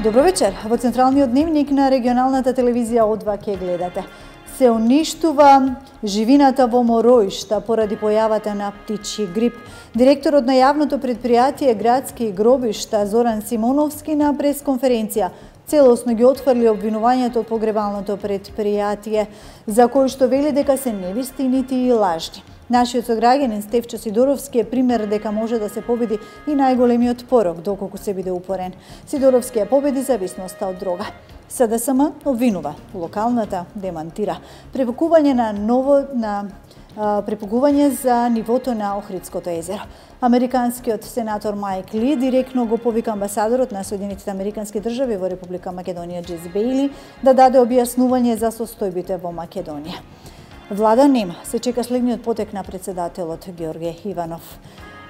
Добро вечер. Во централниот дневник на регионалната телевизија О2 ќе гледате. Се уништува живината во Мороишта поради појавата на птичји грип. Директорот на јавното предпријатие Градски гробишта Зоран Симоновски на пресконференција целосно ги отфрли обвинувањето од погребалното предпријатие, за кој што вели дека се невистините и лажни. Нашиот сограѓанин Стефчо Сидоровски е пример дека може да се победи и најголемиот порок, доколку се биде упорен. Сидоровски ја победи зависноста од дрога. СДСМ обвинува, локалната демантира. Препугување за нивото на Охридското езеро. Американскиот сенатор Майк Ли директно го повика амбасадорот на Соединетите Американски држави во Република Македонија Џез Бејли да даде објаснување за состојбите во Македонија. Влада нема. Се чека следниот потек на председателот Ѓорѓе Иванов.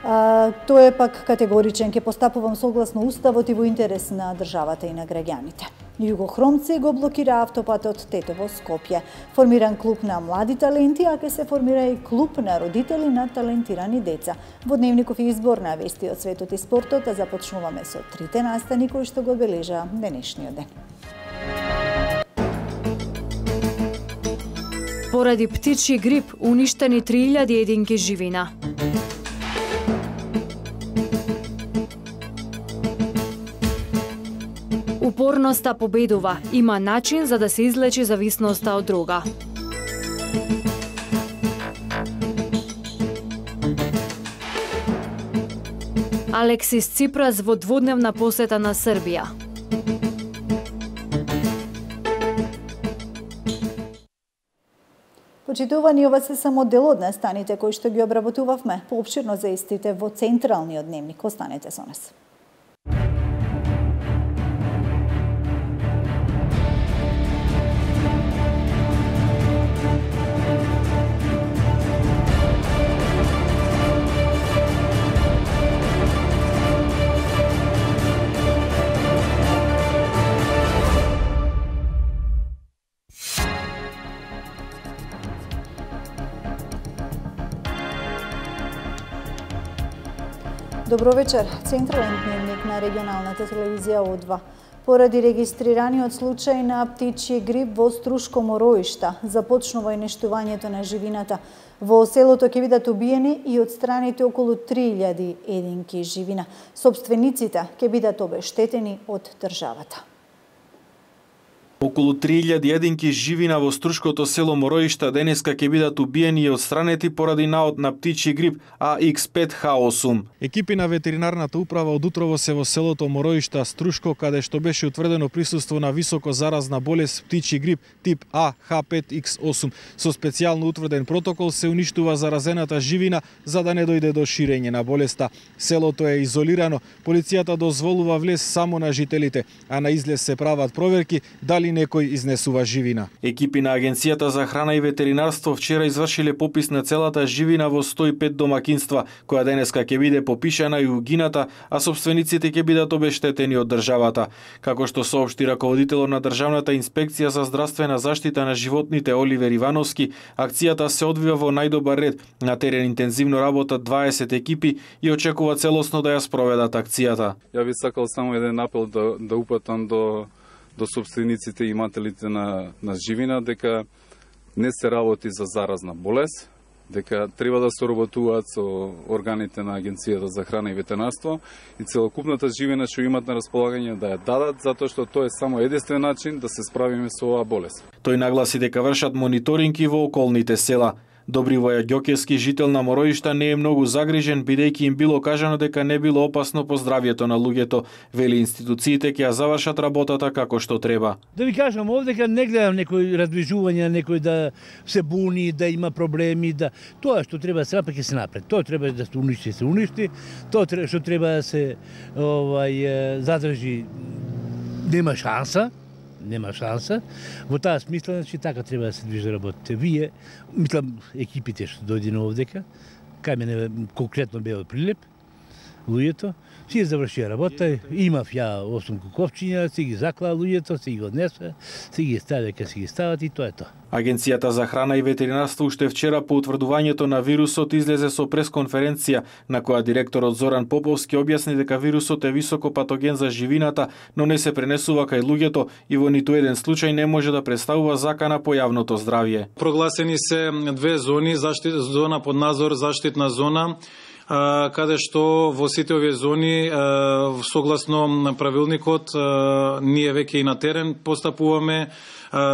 Тој е пак категоричен, ќе постапувам согласно уставот и во интерес на државата и на граѓаните. Југохромци го блокира автопатот Тетово Скопје. Формиран клуб на млади таленти, а ќе се формира и клуб на родители на талентирани деца. Во дневников избор на вести од светот и спортот, започнуваме со трите настани кои што го обележа денешниот ден. Поради птичји грип уништени 3000 единки живина. Упорноста победува. Има начин за да се излечи зависноста од дрога. Алексис Ципрас во дводневна посета на Србија. Почитувани, ова се само дел од настаните кои што ги обработувавме. Поопширно за истите во централниот дневник. Останете со нас. Добро вечер. Централен дневник на регионалната телевизија О2. Поради регистрираниот случај на птичји грип во Струшко Мороишта, започнува уништувањето на живината. Во селото ќе бидат убиени и отстраните околу 3000 единки живина. Собствениците ќе бидат обештетени од државата. Околу 3000 единки живина во Струшкото село Мороишта денеска ќе бидат убиени и отстранети поради наод на птичји грип AX5H8. Екипи на ветеринарната управа од утрово се во селото Мороишта, Струшко, каде што беше утврдено присуство на високо заразна болест птичји грип тип AH5X8. Со специјално утврден протокол се уништува заразената живина за да не дојде до ширење на болеста. Селото е изолирано, полицијата дозволува влез само на жителите, а на излез се прават проверки дали некој изнесува живина. Екипи на Агенцијата за храна и ветеринарство вчера извршиле попис на целата живина во 105 домакинства, која денеска ќе биде попишана и угината, а собствениците ќе бидат обештетени од државата. Како што соопшти раководителот на Државната инспекција за здравствена заштита на животните Оливер Ивановски, акцијата се одвива во најдобар ред. На терен интензивно работат 20 екипи и очекува целосно да ја спроведат акцијата. Ја би сакал само еден апел да упатам до собствениците и имателите на живина, дека не се работи за заразна болест, дека треба да соработуваат со органите на Агенцијата за храна и ветеринарство и целокупната живина што имат на располагање да ја дадат, затоа што тоа е само единствен начин да се справиме со оваа болест. Тој нагласи дека вршат мониторинги во околните села. Добривоја Ѓокевски, жител на Мороишта, не е многу загрижен, бидејќи им било кажано дека не било опасно по здравјето на луѓето. Вели институциите ќе ја завршат работата како што треба. Да ви кажам овдека не гледам некој раздвижување, некој да се буни, да има проблеми, да тоа што треба да се направи ќе се направи. Тоа треба да се уништи, тоа што треба да се задржи, нема шанса. Во таа смисла, значи, така треба да се движи работите. Вие, мислам, екипите што дојдено овдека, кај мене конкретно бе од Прилеп, луѓето, си завршија работа, имав ја 8 куковчиња, си ги заклаа луѓето, си ги однесе, си ги стави дека си ги стават и тоа е тоа. Агенцијата за храна и ветеринарство уште вчера по утврдувањето на вирусот излезе со пресконференција на која директорот Зоран Поповски објасни дека вирусот е високо патоген за живината, но не се пренесува кај луѓето и во ниту еден случај не може да представува закана по јавното здравје. Прогласени се две зони, зона под надзор, заштитна зона, каде што во сите овие зони, согласно правилникот, ние веќе и на терен постапуваме,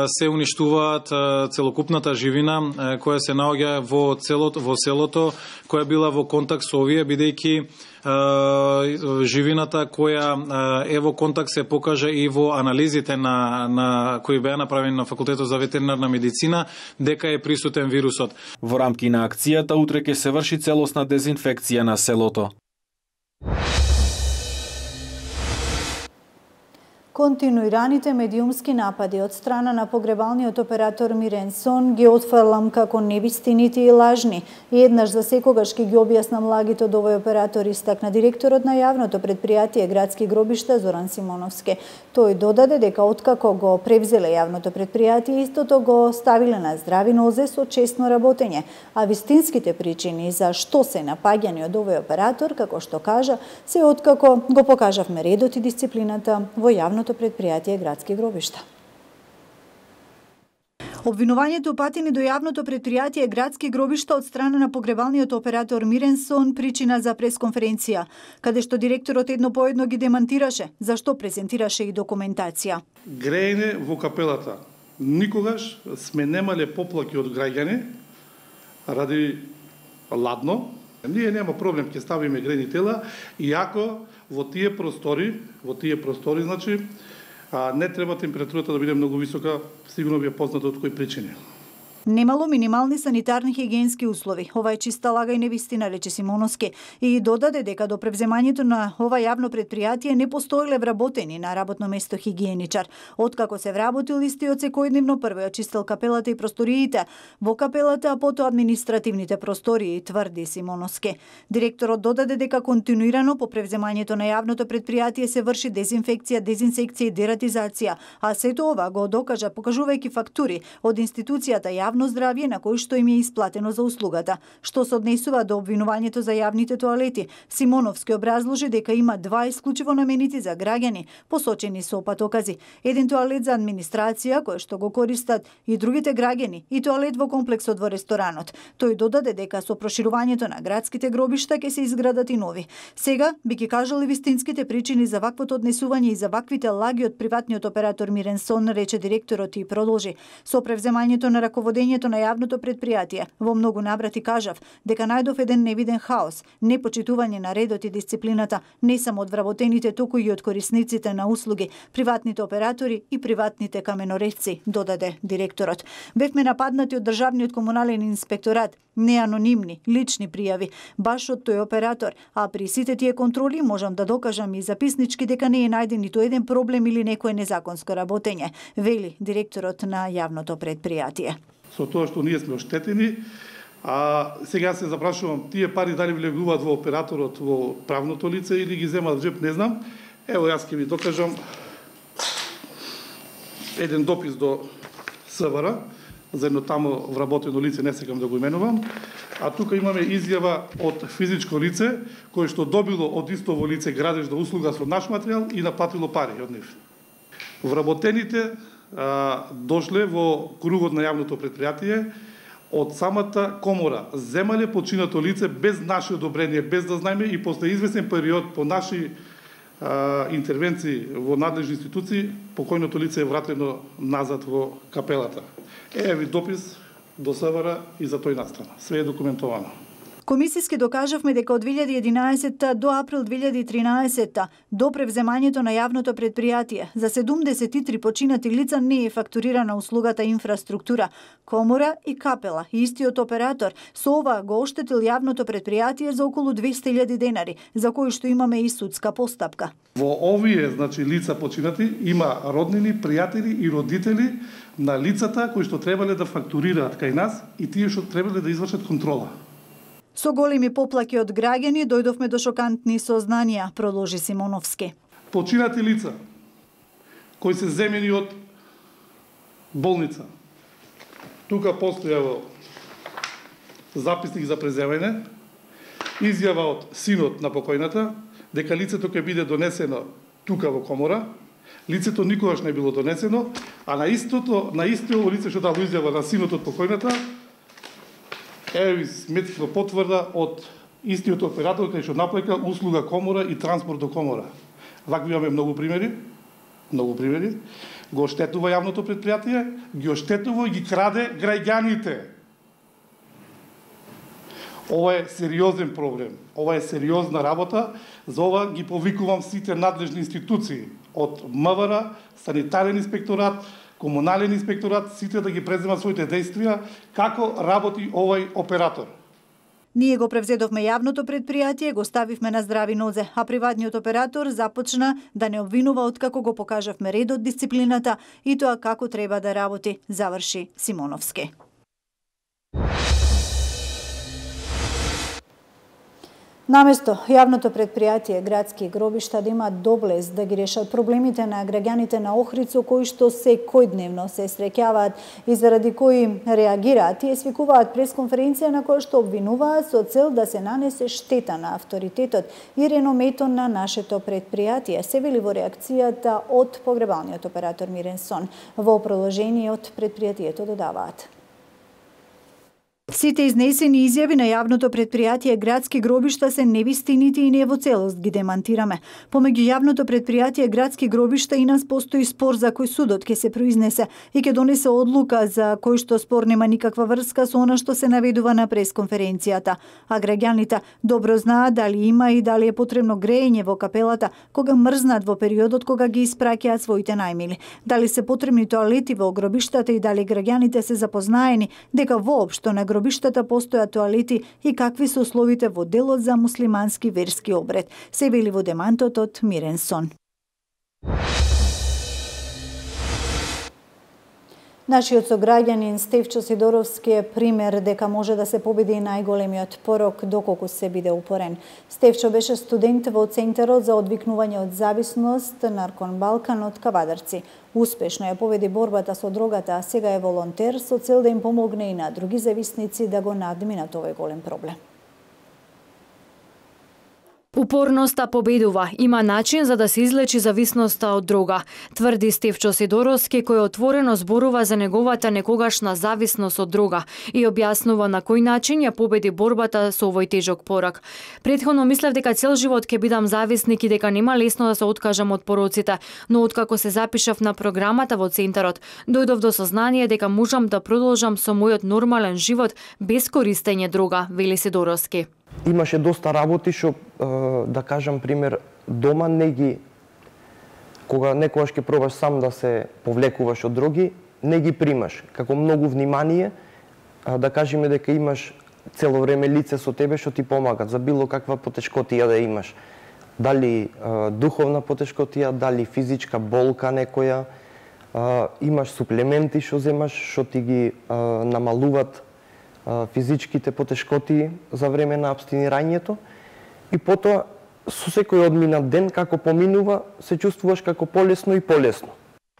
се уништуваат целокупната живина која се наоѓа во селото, која била во контакт со овие, бидејќи живината која е во контакт се покажа и во анализите кои беа направени на Факултетот за ветеринарна медицина дека е присутен вирусот. Во рамки на акцијата утре ќе се врши целосна дезинфекција на селото. Континуираните медиумски напади од страна на погребалниот оператор Мирен Сон ги отфрлам како невистините и лажни. И еднаш за секогаш ќе ги објаснам лагите од овој оператор, истакна директорот на јавното предпријатие Градски гробишта Зоран Симоновски. Тој додаде дека откако го превзеле јавното предпријатие, истото го ставиле на здрави нозе со честно работење, а вистинските причини за што се напаѓани од овој оператор, како што кажа, се откако го покажавме редот и дисциплината во јавното предпријатие Градски гробишта. Обвинувањето упатени до јавното предпријатие Градски гробишта од страна на погребалниот оператор Мирен Сон причина за пресконференција, каде што директорот едно по едно ги демантираше, зашто презентираше и документација. Грејне во капелата. Никогаш сме немале поплаки од граѓани ради ладно. Ние нема проблем, ќе ставиме грени тела, иако во тие простори, значи, не треба температурата да биде многу висока, сигурно ви е познато од кои причини. Немало минимални санитарни хигиенски услови. Ова е чиста лага и невистина, рече Симоновски, и додаде дека до превземањето на ова јавно предпријатие не постоеле вработени на работно место хигиеничар. Откако се вработил истиот секојдневно прво ја чистел капелата и просториите во капелата, а потоа административните простории, тврди Симоновски. Директорот додаде дека континуирано по превземањето на јавното предпријатие се врши дезинфекција, дезинсекција и дератизација, а сето ова го докажа покажувајќи фактури од институцијата Јавно здравје на кој што им е исплатено за услугата. Што се однесува до обвинувањето за јавните тоалети, Симоновски образложи дека има два исклучиво наменити за граѓани, посочени со патокази. Еден тоалет за администрација, кој што го користат и другите граѓани, и тоалет во комплексот во ресторанот. Тој додаде дека со проширувањето на градските гробишта ќе се изградат и нови. Сега би ги кажали вистинските причини за ваквото однесување и за ваквите лаги од приватниот оператор Мирен Сон, рече директорот и продолжи. Со превземањето на раководењето на јавното предпријатие, во многу наврати кажав дека најдов еден невиден хаос, непочитување на редот и дисциплината, не само од вработените, туку и од корисниците на услуги, приватните оператори и приватните каменоредци, додаде директорот. Бевме нападнати од државниот комунален инспекторат, не анонимни, лични пријави, баш од тој оператор, а при сите тие контроли можам да докажам и записнички дека не е најден ниту еден проблем или некое незаконско работење, вели директорот на јавното предпријатие. Со тоа што ние сме оштетени, а сега се запрашувам, тие пари дали влегуваат во операторот, во правното лице или ги земаат в джеп, не знам. Ево, јас ќе ви докажам еден допис до СВР, за едно тамо вработено лице, не сакам да го именувам, а тука имаме изјава од физичко лице, кој што добило од истово лице градежна услуга со наш материјал и наплатило пари од нив. Вработените дошле во кругот на јавното предпријатие од самата комора, земале починато лице без наше одобрение, без да знаеме, и после известен период по наши интервенции во надлежни институции, покојното лице е вратено назад во капелата. Еве ви допис до СВР и за тој настрана. Све е документовано. Комисиски докажавме дека од 2011 до април 2013 до превземањето на јавното предпријатие за 73 починати лица не е фактурирана услугата инфраструктура, комора и капела. Истиот оператор со ова го оштетил јавното предпријатие за околу 200.000 денари, за кои што имаме и судска постапка. Во овие, значи, лица починати има роднини, пријатели и родители на лицата кои што требале да фактурираат кај нас и тие што требале да извршат контрола. Со големи поплаки од граѓани дојдовме до шокантни сознанија, продолжи Симоновски. Починати лица кои се земени од болница. Тука постојава записник за преземање, изјава од синот на покојната дека лицето ќе биде донесено тука во комора. Лицето никогаш не било донесено, а на истиот лице што дало изјава на синот од покојната, медицинска потврда од истиот оператор кај што наплака услуга комора и транспорт до комора. Вакви имаме многу примери. Го оштетува јавното предпријатие, ги оштетува и ги краде граѓаните. Ова е сериозен проблем. Ова е сериозна работа. За ова ги повикувам сите надлежни институции од МВР, санитарен инспекторат, комунален инспекторат, сите да ги преземат своите действија како работи овој оператор. Ние го превзедовме јавното предпријатие, го ставивме на здрави нозе, а приватниот оператор започна да не обвинува откако го покажавме редот, дисциплината и тоа како треба да работи, заврши Симоновски. Наместо јавното предпријатие градски гробишта да имаат доблест да ги решат проблемите на граѓаните на Охрид со кои што секојдневно се среќаваат и заради кои реагираат, тие свикуваат пресконференција на која што обвинуваат со цел да се нанесе штета на авторитетот и реномето на нашето предпријатие, се вели во реакцијата од погребалниот оператор Мирен Сон. Во продолжение од предпријатието додаваат: сите изнесени изјави на јавното предпријатие градски гробишта се невистините и не во целост ги демантираме. Помеѓу јавното предпријатие градски гробишта и нас постои спор за кој судот ќе се произнесе и ќе донесе одлука за кој што спор нема никаква врска со она што се наведува на пресконференцијата. А граѓаните добро знаат дали има и дали е потребно греење во капелата кога мрзнат во периодот кога ги испраќаат своите најмили. Дали се потребни тоалети во гробиштата и дали граѓаните се запознаени дека воопшто на гробиштата постојат тоалети и какви се условите во делот за муслимански верски обред, се вели во демантот од Мирен Сон. Нашиот сограѓанин Стефчо Сидоровски е пример дека може да се победи најголемиот порок доколку се биде упорен. Стефчо беше студент во Центарот за одвикнување од зависност Наркон Балкан од Кавадарци. Успешно ја победи борбата со дрогата, а сега е волонтер со цел да им помогне и на други зависници да го надминат овој голем проблем. Упорноста победува, има начин за да се излечи зависноста од дрога, тврди Стефчо Сидоровски, кој отворено зборува за неговата некогашна зависност од дрога и објаснува на кој начин ја победи борбата со овој тежок порок. Претходно мислев дека цел живот ќе бидам зависник и дека нема лесно да се откажам од пороците, но откако се запишав на програмата во Центарот, дојдов до сознание дека можам да продолжам со мојот нормален живот без користење дрога, вели Сидоровски. Имаше доста работи што, да кажам пример, дома кога некогаш ќе пробаш сам да се повлекуваш од дроги, не ги примаш. Како многу внимание, да кажеме дека имаш цело време лице со тебе што ти помагат за било каква потешкотија да имаш. Дали духовна потешкотија, дали физичка болка некоја, имаш суплементи што земаш, што ти ги намалуват физичките потешкоти за време на абстинирањето и потоа со секој одминат ден како поминува се чувствуваш како полесно и полесно.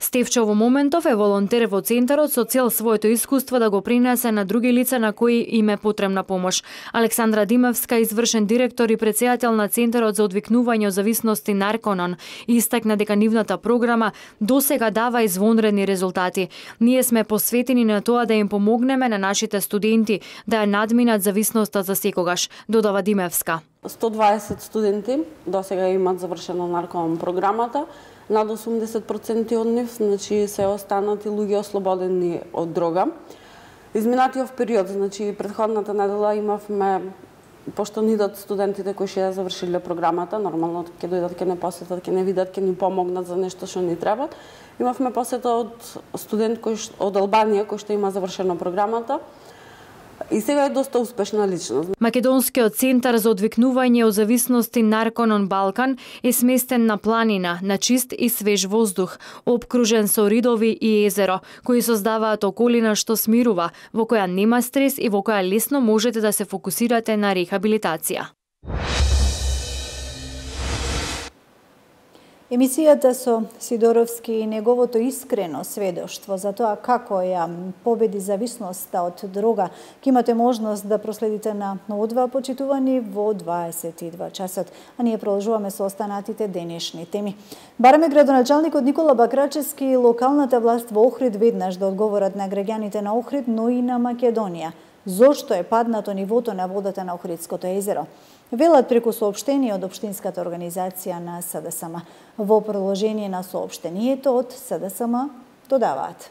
Стефчо во моментов е волонтер во Центарот со цел своето искуство да го принесе на други лица на кои им е потребна помош. Александра Димевска, извршен директор и претседател на Центарот за одвикнување од зависности Нарконон, истакна дека нивната програма досега дава извонредни резултати. Ние сме посветени на тоа да им помогнеме на нашите студенти да ја надминат зависноста за секогаш, додава Димевска. 120 студенти досега имаат завршено Нарконон програмата. Над 80% од нив, значи, се останати луѓе ослободени од дрога. Изминатиот период, значи, претходната недела имавме, пошто ни идат студентите кои ќе завршиле програмата, нормално ќе дојдат, ќе не посетат, ќе не видат, ќе ни помогнат за нешто што ни треба. Имавме посета од студент од Албанија кој што има завршено програмата. И сега е доста успешна личност. Македонскиот центар за одвикнување од зависности Наркон Балкан е сместен на планина, на чист и свеж воздух, обкружен со ридови и езеро, кои создаваат околина што смирува, во која нема стрес и во која лесно можете да се фокусирате на рехабилитација. Емисијата со Сидоровски и неговото искрено сведоштво за тоа како ја победи зависноста од дрога, ќе имате можност да проследите на одва почитувани во 22 часот. А ние продолжуваме со останатите денешни теми. Бараме градоначалникот Никола Бакрачевски и локалната власт во Охрид веднаш да одговорат на граѓаните на Охрид, но и на Македонија. Зошто е паднато нивото на водата на Охридското езеро? Велат преку соопштение од Општинската организација на СДСМ. Во продолжение на соопштението од СДСМ додаваат.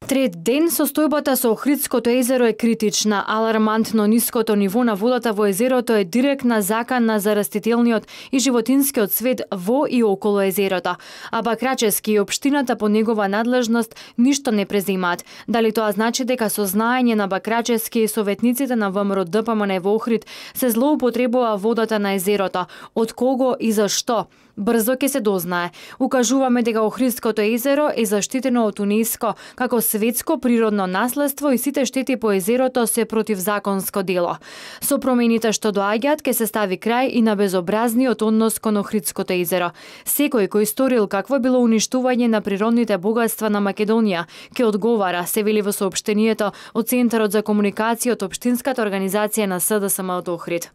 Трет ден состојбата со Охридското езеро е критична. Алармантно ниското ниво на водата во езерото е директна закана за растителниот и животинскиот свет во и околу езерото. А Бакрачевски и општината по негова надлежност ништо не презимаат. Дали тоа значи дека со знаење на Бакрачевски и советниците на ВМРО ДПМН во Охрид се злоупотребува водата на езерото? Од кого и зашто? Брзо ќе се дознае. Укажуваме дека Охридското езеро е заштитено од УНЕСКО како светско природно наследство и сите штети по езерото се противзаконско дело. Со промените што доаѓаат ќе се стави крај и на безобразниот однос кон Охридското езеро. Секој кој сторил какво било уништување на природните богатства на Македонија ќе одговара, се вели во соопштението од Центарот за комуникација од Општинската организација на СДСМ од Охрид.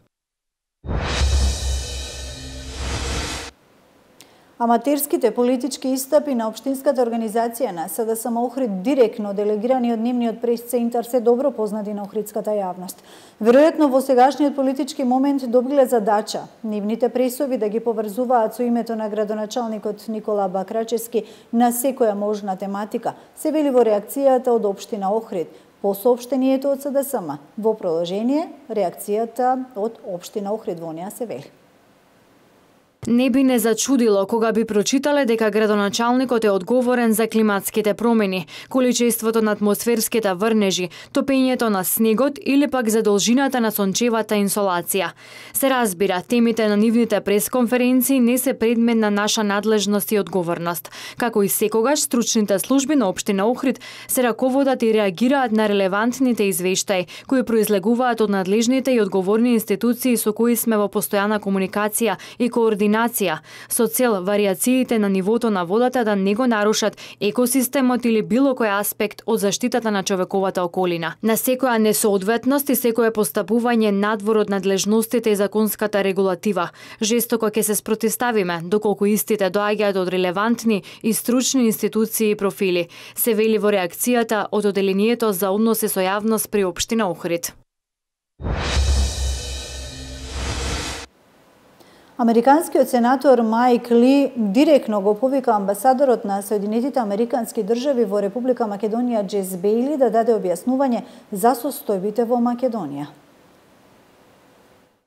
Аматерските политички истапи на Општинската организација на СДСМ Охрид, директно делегирани од нивниот прес-центар, се добро познати на охридската јавност. Веројатно во сегашниот политички момент добиле задача нивните пресови да ги поврзуваат со името на градоначалникот Никола Бакрачевски на секоја можна тематика, се вели во реакцијата од Општина Охрид по соопштението од СДСМ. Во продолжение, реакцијата од Општина Охрид во неа се вели. Не би не зачудило кога би прочитале дека градоначалникот е одговорен за климатските промени, количеството на атмосферските врнежи, топењето на снегот или пак задолжината на сончевата инсолација. Се разбира, темите на нивните пресконференции не се предмет на наша надлежност и одговорност. Како и секогаш, стручните служби на Општина Охрид се раководат и реагираат на релевантните извештаи кои произлегуваат од надлежните и одговорни институции со кои сме во постојана комуникација и координација со цел вариациите на нивото на водата да не го нарушат екосистемот или било кој аспект од заштитата на човековата околина. На секоја несоодветност и секое постапување надвор од надлежностите и законската регулатива, жестоко ќе се спротивставиме доколку истите доаѓаат од релевантни и стручни институции и профили, се вели во реакцијата од Оделението за односи со јавност при Општина Охрид. Американскиот сенатор Майк Ли директно го повика амбасадорот на Соединетите Американски држави во Република Македонија Джес Бејли да даде објаснување за состојбите во Македонија.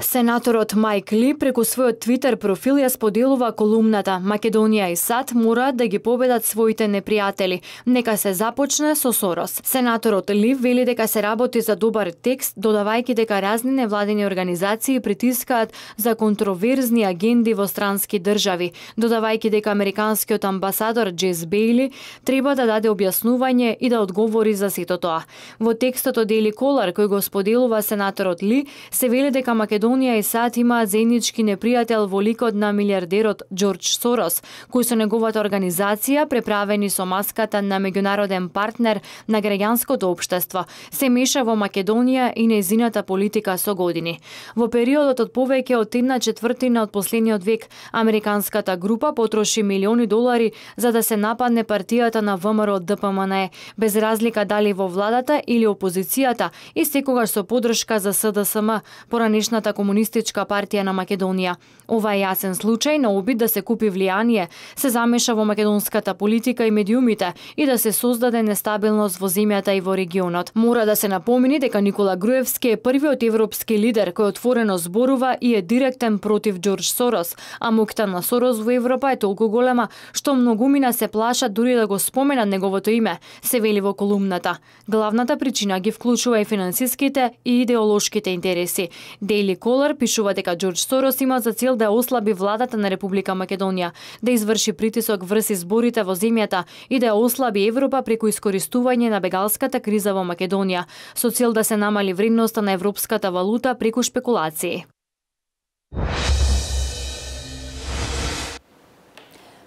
Сенаторот Майк Ли преку својот Твитер профил ја споделува колумната «Македонија и САД мораат да ги победат своите непријатели. Нека се започне со Сорос». Сенаторот Ли вели дека се работи за добар текст, додавајќи дека разни невладени организации притискаат за контроверзни агенди во странски држави, додавајќи дека американскиот амбасадор Джес Бејли треба да даде објаснување и да одговори за сето тоа. Во текстот од Daily Caller кој го споделува сенаторот Ли, се вели дека Македонија и САД имаат заеднички непријател во ликот на милиардерот Џорџ Сорос, кој со неговата организација, преправени со маската на меѓународен партнер на граѓанското општество, се меша во Македонија и нејзината политика со години. Во периодот од повеќе од 1/4 од последниот век, американската група потроши милиони долари за да се нападне партијата на ВМРО ДПМН, без разлика дали во владата или опозицијата и секогаш со поддршка за СДСМ, поранешната комунистичка Комунистичка партија на Македонија. Ова е јасен случај на обид да се купи влијание, се замеша во македонската политика и медиумите и да се создаде нестабилност во земјата и во регионот. Мора да се напомени дека Никола Груевски е првиот европски лидер кој отворено зборува и е директен против Џорџ Сорос, а моќта на Сорос во Европа е толку голема што многумина се плашат дури да го споменат неговото име, се вели во колумната. Главната причина ги вклучува и финансиските и идеолошките интереси. Daily Caller пишува дека Џорџ Сорос има за цел да ослаби владата на Република Македонија, да изврши притисок врз изборите во земјата и да ја ослаби Европа преку искористување на бегалската криза во Македонија, со цел да се намали вредноста на европската валута преку шпекулации.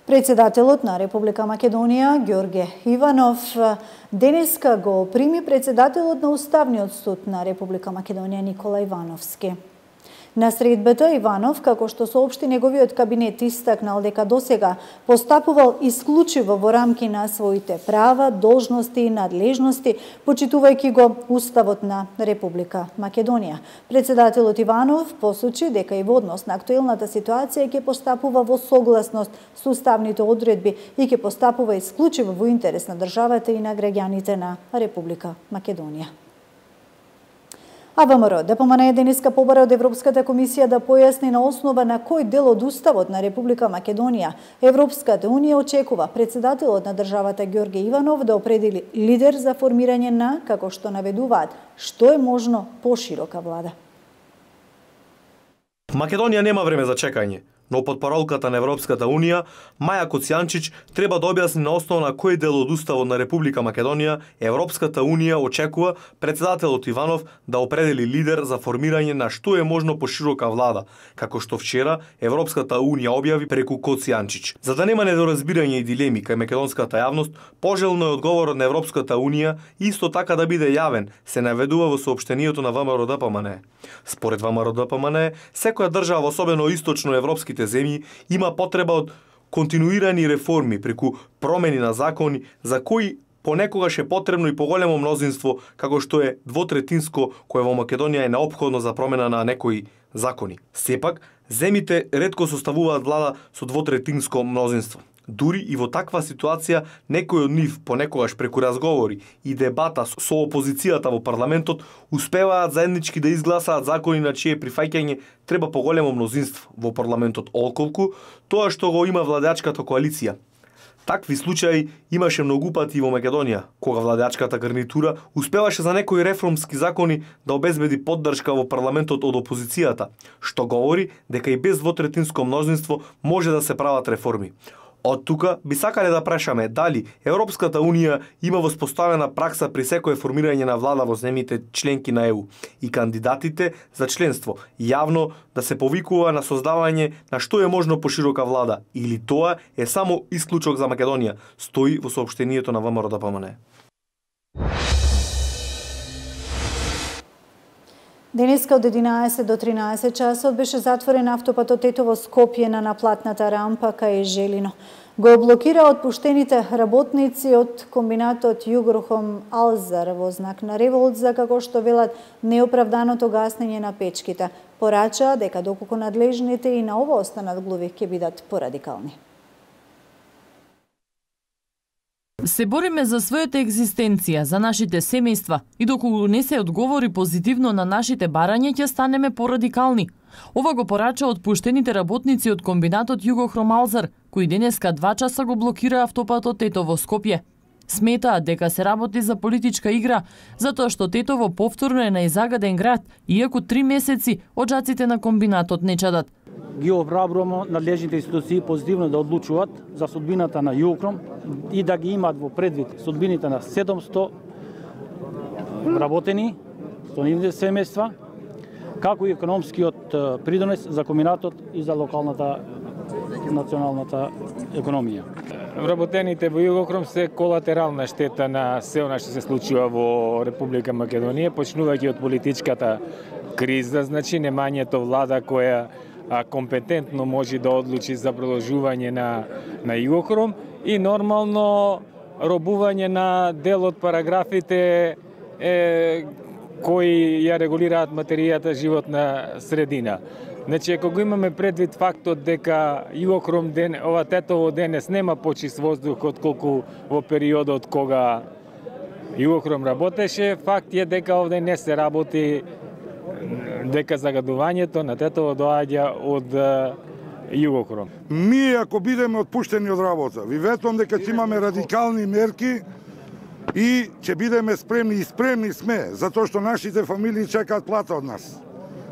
Председателот на Република Македонија, Ѓорге Иванов, денеска го прими председателот на Уставниот суд на Република Македонија, Никола Ивановски. На средбата Иванов, како што соопшти неговиот кабинет, истакнал дека досега постапувал исклучиво во рамки на своите права, должности и надлежности, почитувајќи го Уставот на Република Македонија. Председателот Иванов посочи дека и во однос на актуелната ситуација ќе постапува во согласност со уставните одредби и ќе постапува исклучиво во интерес на државата и на граѓаните на Република Македонија. А ВМРО ДПМН денеска побара од Европската комисија да појасни на основа на кој дел од Уставот на Република Македонија Европската унија очекува председателот на државата Ѓорге Иванов да определи лидер за формирање на, како што наведуваат, што е можно поширока влада. Македонија нема време за чекање, но потпоролката на Европската унија, Маја Коцијанчич, треба да објасни на основа на кој дел од Уставот на Република Македонија Европската унија очекува председателот Иванов да определи лидер за формирање на што е можно поширока влада, како што вчера Европската унија објави преку Коцијанчич. За да нема недоразбирање и дилеми кај македонската јавност, пожелно е одговорот на Европската унија исто така да биде јавен, се наведува во соопштението на ВМРО ДПМН. Според ВМРО ДПМН, секоја држава, особено источно европските земји, има потреба од континуирани реформи преку промени на закони за кои понекогаш е потребно и поголемо мнозинство, како што е двотретинско, кое во Македонија е неопходно за промена на некои закони. Сепак, земите ретко составуваат влада со двотретинско мнозинство. Дури и во таква ситуација, некој од нив понекогаш преку разговори и дебата со опозицијата во парламентот успеваат заеднички да изгласаат закони на чие прифаќање треба поголемо мнозинство во парламентот, отколку тоа што го има владеачката коалиција. Такви случаи имаше многу пати во Македонија, кога владеачката гарнитура успеваше за некои реформски закони да обезбеди поддршка во парламентот од опозицијата, што говори дека и без двотретинско мнозинство може да се прават реформи. Од тука би сакале да прашаме дали Европската унија има воспоставена пракса при секое формирање на влада во земјите членки на ЕУ и кандидатите за членство јавно да се повикува на создавање на што е можно поширока влада, или тоа е само исклучок за Македонија, стои во соопштението на ВМРО ДПМН. Денеска од 11 до 13 часот беше затворен автопатот Тетово-Скопје на наплатната рампа кај Желино. Го блокира отпуштените работници од комбинатот Југрохом Алзар во знак на револт за, како што велат, неоправданото гаснење на печките. Порача дека доколку надлежните и на ова останат глуви ќе бидат порадикални. Се бориме за својата екзистенција, за нашите семејства и доколку не се одговори позитивно на нашите барања, ќе станеме порадикални. Ова го порача отпуштените работници од комбинатот Југохром Алзар, кои денеска 2 часа го блокира автопатот Тетово-Скопје. Сметаат дека се работи за политичка игра, затоа што Тетово повторно е најзагаден град, иако 3 месеци оджаците на комбинатот не чадат. Ги обрабруваме надлежните институции позитивно да одлучуваат за судбината на Југохром и да ги имаат во предвид судбините на 700 вработени, 190 семејства, како и економскиот придонес за комбинатот и за локалната националната економија. Вработените во Југохром се колатерална штета на се она што се случува во Република Македонија, почнувајќи од политичката криза, значи немањето влада која компетентно може да одлучи за продолжување на Југохром и нормално робување на дел од параграфите кои ја регулираат материјата животна средина. Значи, ако го имаме предвид фактот дека Југохром ова тетово денес нема почист воздух отколку во периодот кога Југохром работеше, факт е дека овде не се работи, дека загадувањето на тетово доаѓа од Југохром. Ние ако бидеме отпуштени од работа, ви ветувам дека ќе имаме радикални мерки и ќе бидеме спремни и спремни сме, затоа што нашите фамилии чекаат плата од нас.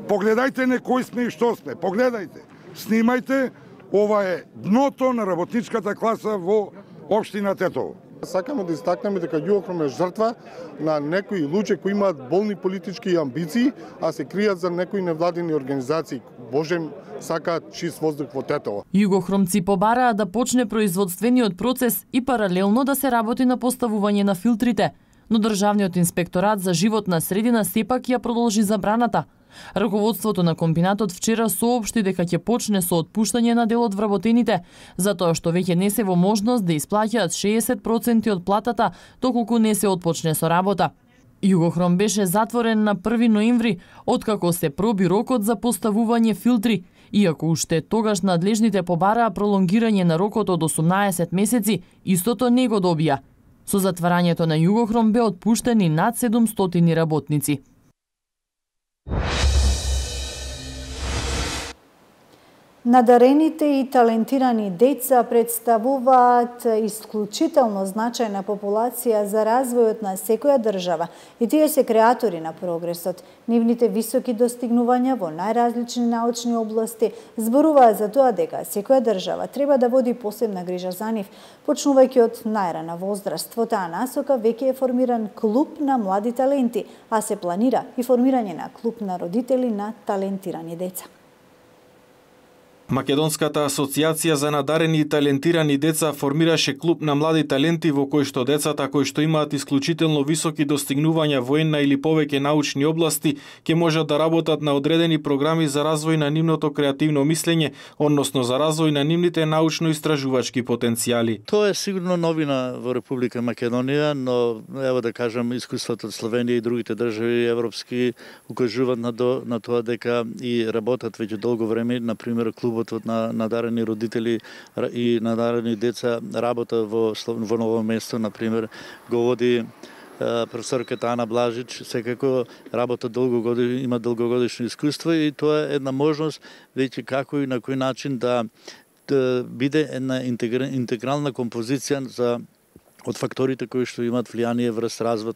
Погледајте не кој сме и што сме, погледајте, снимајте, ова е дното на работничката класа во општина Тетово. Сакаме да истакнеме дека Југохром е жртва на некои луѓе кои имаат болни политички амбиции, а се кријат за некои невладини организации. Божем, сакаат чист воздух во Тетово. Југохромци побараа да почне производствениот процес и паралелно да се работи на поставување на филтрите, но Државниот инспекторат за животна средина сепак ја продолжи забраната. Раководството на комбинатот вчера соопшти дека ќе почне со отпуштање на дел од вработените, затоа што веќе не се во можност да исплаќаат 60% од платата доколку не се отпочне со работа. Југохром беше затворен на 1 ноември, откако се проби рокот за поставување филтри, иако уште тогаш надлежните побараа пролонгирање на рокот од 18 месеци, истото не го добија. Со затварањето на Југохром бе отпуштени над 700 работници. Надарените и талентирани деца представуваат исклучително значајна популација за развојот на секоја држава и тие се креатори на прогресот. Нивните високи достигнувања во најразлични научни области зборуваат за тоа дека секоја држава треба да води посебна грижа за нив, почнувајќи од најрана возраст. Во таа насока веќе е формиран клуб на млади таленти, а се планира и формирање на клуб на родители на талентирани деца. Македонската асоциација за надарени и талентирани деца формираше клуб на млади таленти во кој што децата кои што имаат исклучително високи достигнувања во една или повеќе научни области ќе можат да работат на одредени програми за развој на нивното креативно мислење, односно за развој на нивните научно-истражувачки потенцијали. Тоа е сигурно новина во Република Македонија, но ево да кажам искуството од Словенија и другите држави европски укажуваат на тоа дека и работат веќе долго време, на пример клуб на надарени родители и надарени деца работа во ново место, на пример, го води професорката Ана Блажич, секако работа има долгогодишно искуство и тоа е една можност веќе како и на кој начин да биде една интегрална композиција за од факторите кои што имаат влијание врз развој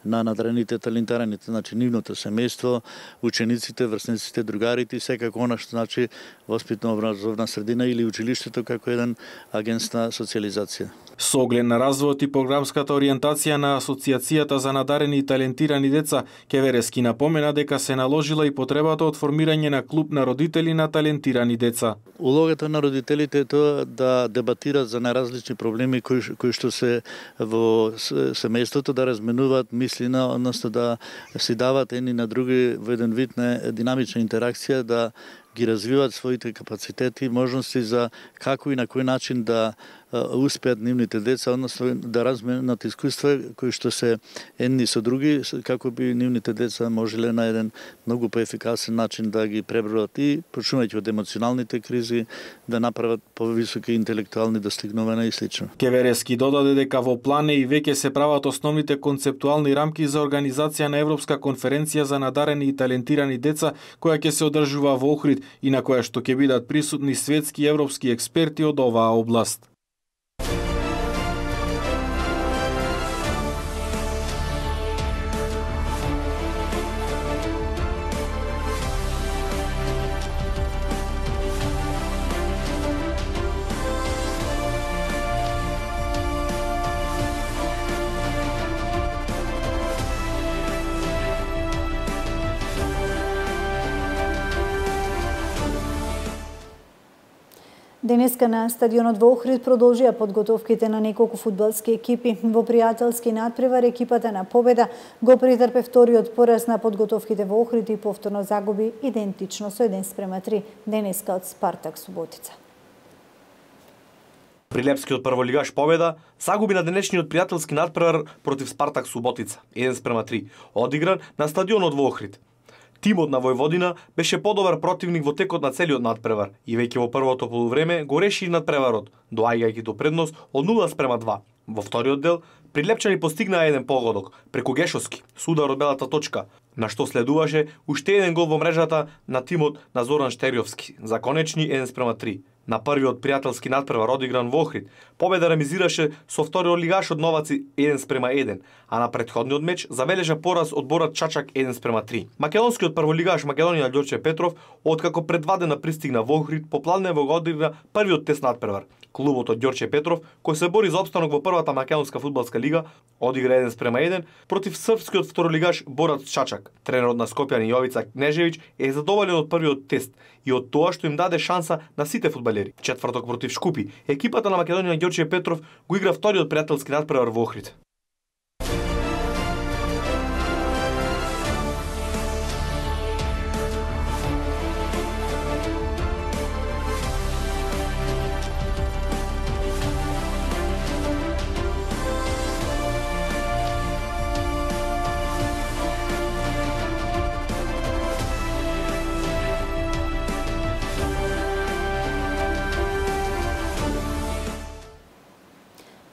на надарените талентираните, значи нивното семејство, учениците, врсниците, другарите и секако она што значи воспитно-образовна средина или училиштето како еден агент на социализација. Со оглед на развојот и програмската ориентација на Асоциацијата за надарени и талентирани деца, Кеверески напомена дека се наложила и потребата од формирање на клуб на родители на талентирани деца. Улогата на родителите е тоа да дебатират за најразлични проблеми кои што се во семејството, да разменуваат мислина, односно да си дават едни на други во еден вид на динамична интеракција, да ги развиваат своите капацитети, можности за како и на кој начин да успеат нивните деца, односно да разменат искуства кои што се едни со други, како би нивните деца можеле на еден многу поефикасен начин да ги пребродат и почнувајќи од емоционалните кризи, да направат повисоки интелектуални достигнувања и слично. Кеверески додаде дека во план е и веќе се прават основните концептуални рамки за организација на Европска конференција за надарени и талентирани деца, која ќе се одржува во Охрид и на која што ќе бидат присутни светски и европски експерти од оваа област. Денеска на стадионот во Охрид продолжија подготовките на неколку фудбалски екипи. Во пријателски надпревар екипата на Победа го претрпе вториот пораз на подготовките во Охрид и повторно загуби идентично со 1:3 денеска од Спартак Суботица. Прилепскиот прволигаш Победа загуби на денешниот пријателски надпревар против Спартак Суботица 1:3, одигран на стадионот во Охрид. Тимот на Војводина беше подобар противник во текот на целиот надпревар и веќе во првото полувреме го реши надпреварот, доаѓајќи до предност од 0:2. Во вториот дел Прилепчани постигнаа еден погодок преку Гешовски со удар од белата точка, на што следуваше уште еден гол во мрежата на тимот на Зоран Штериовски за конечни 1:3. На првиот пријателски надпревар одигран во Охрид, Победа ремизираше со вториот лигаш од Новаци 1:1, а на претходниот меч забележа пораз од Борат Чачак 1:3. Македонскиот прволигаш Македонија Ѓорче Петров, откако предвадена пристигна во Охрид, попланево го одигра првиот тест надпревар. Клубот од Ѓорче Петров, кој се бори за опстанок во првата македонска фудбалска лига, одигра 1:1 против српскиот второлигаш Борат Чачак. Тренерот на Скопјани Јовица Кнежевиќ е задоволен од првиот тест и од тоа што им даде шанса на сите фудбалери. Четврток против Шкупи, екипата на Македонија Ѓорче Петров го игра вториот пријателски надпревар во Охрид.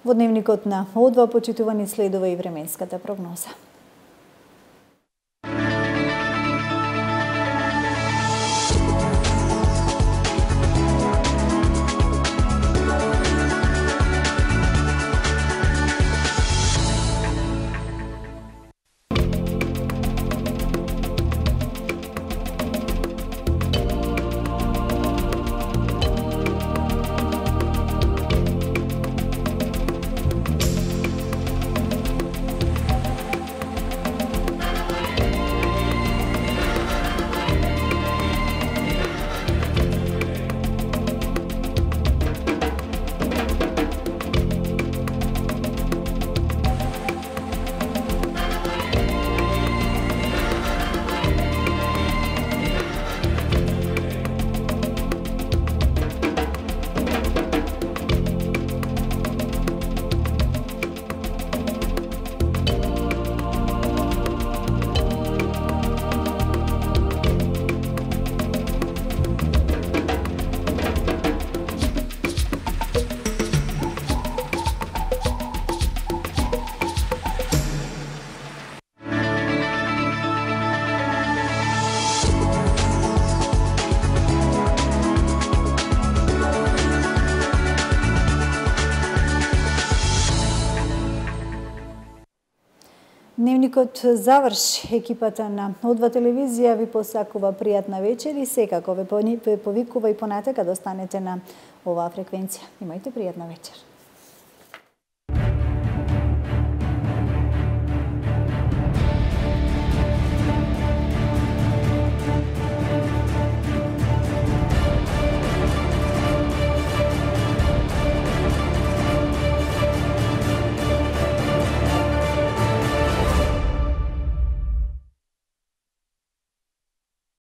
Во дневникот на О2 почитувани следува и временската прогноза. Дневникот заврши. Екипата на О2 телевизија ви посакува пријатна вечер и секако ве повикува и понатака да останете на оваа фреквенција. Имајте пријатна вечер.